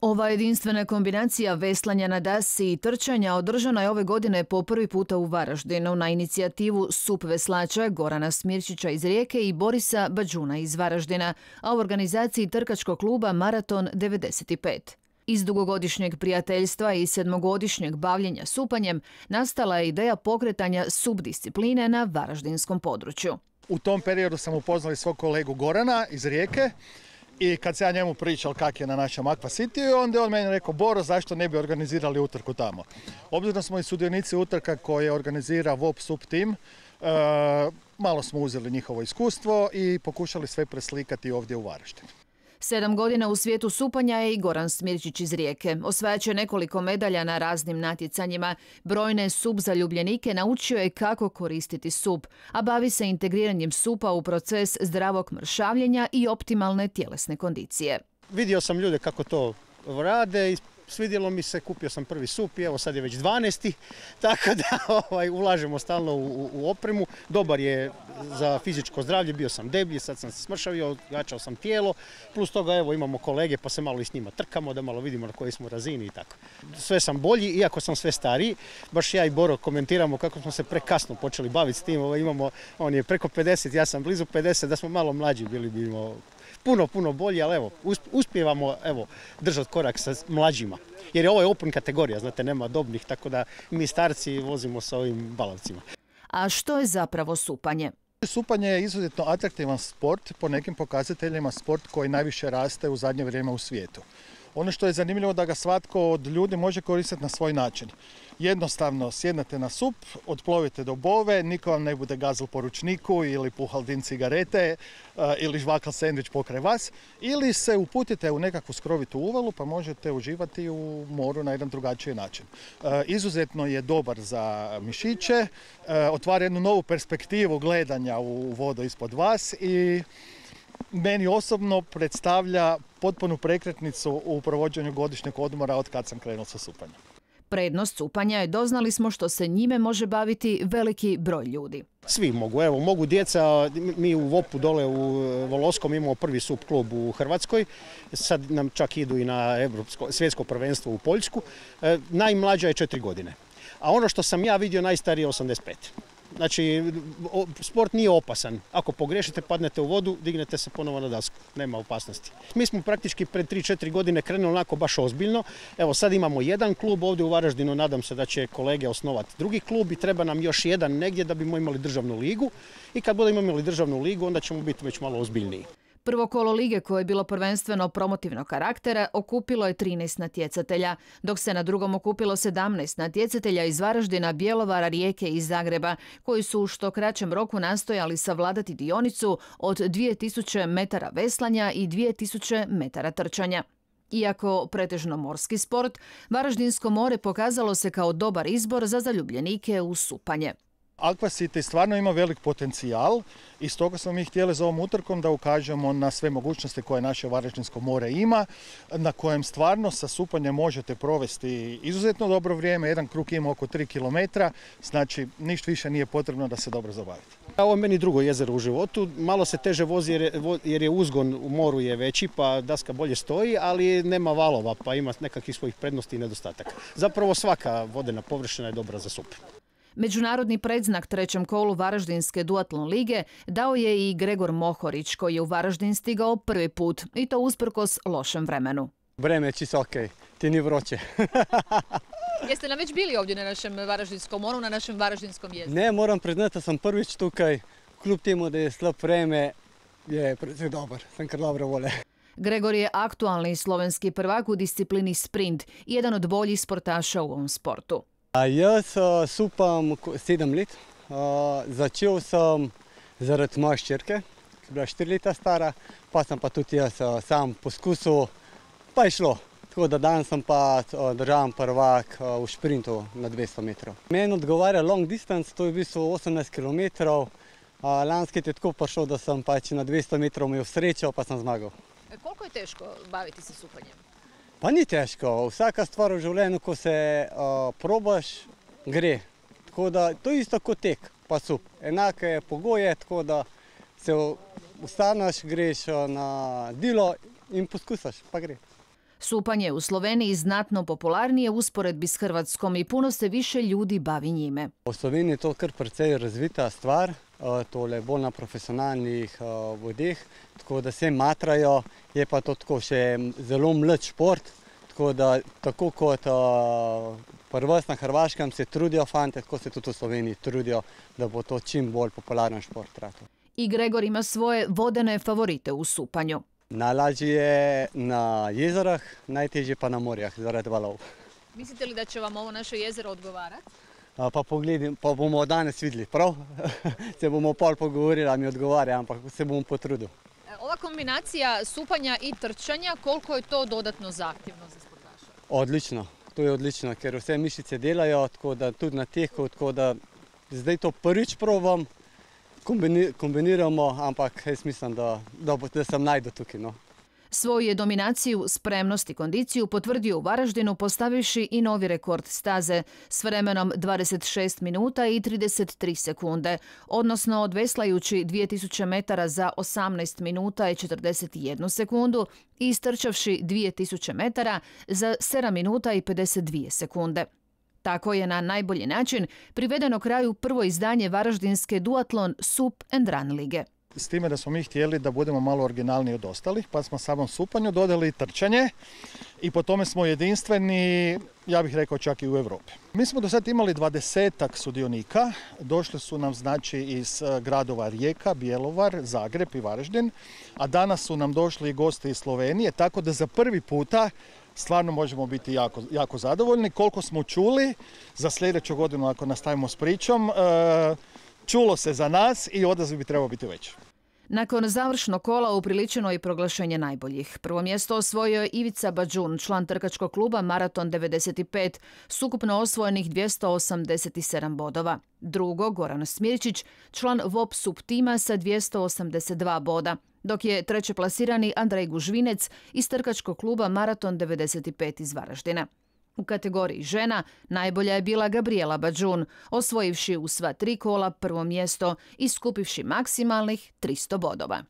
Ova jedinstvena kombinacija veslanja na dasi i trčanja održana je ove godine po prvi puta u Varaždinu na inicijativu SUP veslača Gorana Smirčića iz Rijeke i Borisa Bađuna iz Varaždina, a u organizaciji trkačkog kluba Maraton 95. Iz dugogodišnjeg prijateljstva i sedmogodišnjeg bavljenja supanjem nastala je ideja pokretanja subdiscipline na varaždinskom području. U tom periodu sam upoznali svog kolegu Gorana iz Rijeke i kad se ja njemu pričao kak je na našem Aqua Cityu, onda je on meni rekao: Boro, zašto ne bi organizirali utrku tamo? Obzirom da smo i sudionici utrka koje organizira VOP SUP tim, malo smo uzeli njihovo iskustvo i pokušali sve preslikati ovdje u Varaždinu. 7 godina u svijetu supanja je i Goran Smirčić iz Rijeke. Osvajač je nekoliko medalja na raznim natjecanjima. Brojne SUP zaljubljenike naučio je kako koristiti SUP, a bavi se integriranjem SUP-a u proces zdravog mršavljenja i optimalne tjelesne kondicije. Vidio sam ljude kako to rade i svidjelo mi se, kupio sam prvi SUP i evo sad je već 12. Tako da ulažemo stalno u opremu. Dobar je za fizičko zdravlje, bio sam deblji, sad sam se smršavio, jačao sam tijelo. Plus toga evo imamo kolege pa se malo i s njima trkamo da malo vidimo na kojoj smo razini i tako. Sve sam bolji, iako sam sve stariji. Baš ja i Boro komentiramo kako smo se prekasno počeli baviti s tim. On je preko 50, ja sam blizu 50, da smo malo mlađi bili bi puno bolji, ali evo, uspijevamo držati korak sa mlađima. Jer je ovo open kategorija, znate, nema dobnih, tako da mi starci vozimo sa ovim balavcima. A što je zapravo supanje? Supanje je izuzetno atraktivan sport, po nekim pokazateljima sport koji najviše raste u zadnje vrijeme u svijetu. Ono što je zanimljivo da ga svatko od ljudi može koristiti na svoj način. Jednostavno sjednete na SUP, otplovite do Bove, niko vam ne bude gazil po ručniku ili puhal dim cigarete ili žvakal sendvič pokraj vas, ili se uputite u nekakvu skrovitu uvalu pa možete uživati u moru na jedan drugačiji način. Izuzetno je dobar za mišiće, otvara jednu novu perspektivu gledanja u vodu ispod vas i meni osobno predstavlja potpunu prekretnicu u provođenju godišnjeg odmora od kad sam krenuo sa supanjem. Prednost supanja je, doznali smo, što se njime može baviti veliki broj ljudi. Svi mogu, mogu djeca, mi u VOP-u dole u Voloskom imamo prvi SUP klub u Hrvatskoj, sad nam čak idu i na svjetsko prvenstvo u Poljsku, najmlađa je 4 godine, a ono što sam ja vidio najstarije je 85. Znači, sport nije opasan. Ako pogrešite, padnete u vodu, dignete se ponovo na dasku. Nema opasnosti. Mi smo praktički pred 3-4 godine krenuli onako baš ozbiljno. Evo, sad imamo jedan klub ovdje u Varaždinu. Nadam se da će kolege osnovati drugi klub i treba nam još jedan negdje da bismo imali državnu ligu. I kad budemo imali državnu ligu, onda ćemo biti već malo ozbiljniji. Prvo kolo lige, koje je bilo prvenstveno promotivnog karaktera, okupilo je 13 natjecatelja, dok se na drugom okupilo 17 natjecatelja iz Varaždina, Bjelovara, Rijeke i Zagreba, koji su u što kraćem roku nastojali savladati dionicu od 2000 metara veslanja i 2000 metara trčanja. Iako pretežno morski sport, Varaždinsko more pokazalo se kao dobar izbor za zaljubljenike u supanje. Aqua City stvarno ima velik potencijal i stoga smo mi htjeli za ovom utrkom da ukažemo na sve mogućnosti koje naše Varaždinsko more ima, na kojem stvarno sa supanjem možete provesti izuzetno dobro vrijeme. Jedan krug ima oko 3 km, znači ništa više nije potrebno da se dobro zabavite. Ovo je meni drugo jezero u životu, malo se teže vozi jer je uzgon u moru je veći pa daska bolje stoji, ali nema valova pa ima nekakvih svojih prednosti i nedostataka. Zapravo svaka vodena površina je dobra za sup. Međunarodni predznak trećem kolu Varaždinske duatlon lige dao je i Gregor Mohorić, koji je u Varaždin stigao prvi put, i to usprkos lošem vremenu. Vreme je čisto okej, ti ni vroće. Jeste nam već bili ovdje na našem Varaždinskom moru, na našem Varaždinskom jezeru? Ne, moram priznati da sam prvič tukaj, kljub temu da je slab vreme, je predvsej dobar, sem kar dobro vole. Gregor je aktualni slovenski prvak u disciplini sprint i jedan od boljih sportaša u ovom sportu. Jaz supam 7 let. Začel sem zaradi moje hčerke, ki je bila 4 leta stara, pa sem pa tudi jaz sam poskusil, pa je šlo. Tako da danes sem pa državni prvak v šprintu na 200 metrov. Meni odgovarja long distance, to je v bistvu 18 km. Lanski je tako prišel, da sem pač na 200 metrov imel srečo, pa sem zmagal. Koliko je teško baviti se supanjem? Pa ni težko, vsaka stvar v življenju, ko se probaš, gre. Tako da to je isto kot tek, pa sup. Enake pogoje, tako da se ustaneš, greš na dilo in poskusaš, pa gre. Supanje je u Sloveniji znatno popularnije u usporedbi s Hrvatskom i puno se više ljudi bavi njime. V Sloveniji je to kar precej razvita stvar, tole bolj na profesionalnih vodeh, tako da se matrajo, je pa to tako še zelo mlad šport, tako da tako kot pri vas na Hrvaškem se trudijo fante, tako se tudi v Sloveniji trudijo, da bo to čim bolj popularen šport ratal. I Gregor ima svoje vodene favorite u supanju. Najlažje je na jezerah, najtežje pa na morjah zaradi valov. Mislite li da će vam ovo naše jezero odgovarati? Pa bomo danes videli, prav? Se bomo pol pogovorili, a mi odgovarja, ampak se bom potrudil. Ova kombinacija supanja i trčanja, koliko je to dodatno zahtjevno za sportaša? Odlično, to je odlično, ker vse mišice delajo, tako da tudi na teku, tako da zdaj to prvič probam, kombiniramo, ampak jaz mislim, da sam najdu tukaj. No. Svoju je dominaciju, spremnost i kondiciju potvrdio u Varaždinu postavivši i novi rekord staze s vremenom 26 minuta i 33 sekunde, odnosno odveslajući 2000 metara za 18 minuta i 41 sekundu i istrčavši 2000 metara za 7 minuta i 52 sekunde. Tako je na najbolji način privedeno kraju prvo izdanje varaždinske duatlon Sup and Run lige. S time da smo mi htjeli da budemo malo originalniji od ostalih, pa smo samom supanju dodali trčanje i po tome smo jedinstveni, ja bih rekao čak i u Europi. Mi smo do sad imali 20-ak sudionika, došli su nam znači iz gradova Rijeka, Bjelovar, Zagreb i Varaždin, a danas su nam došli i gosti iz Slovenije, tako da za prvi puta stvarno možemo biti jako zadovoljni. Koliko smo čuli, za sljedeću godinu ako nastavimo s pričom, čulo se za nas i odaziv bi trebao biti veći. Nakon završnog kola upriličeno je proglašenje najboljih. Prvo mjesto osvojio je Ivica Badžun, član trkačkog kluba Maraton 95, s ukupno osvojenih 287 bodova. Drugo, Goran Smirčić, član VOP Sup tima sa 282 boda, dok je treće plasirani Andrej Gužvinec iz trkačkog kluba Maraton 95 iz Varaždina. U kategoriji žena najbolja je bila Gabriela Badžun, osvojivši u sva 3 kola prvo mjesto i skupivši maksimalnih 300 bodova.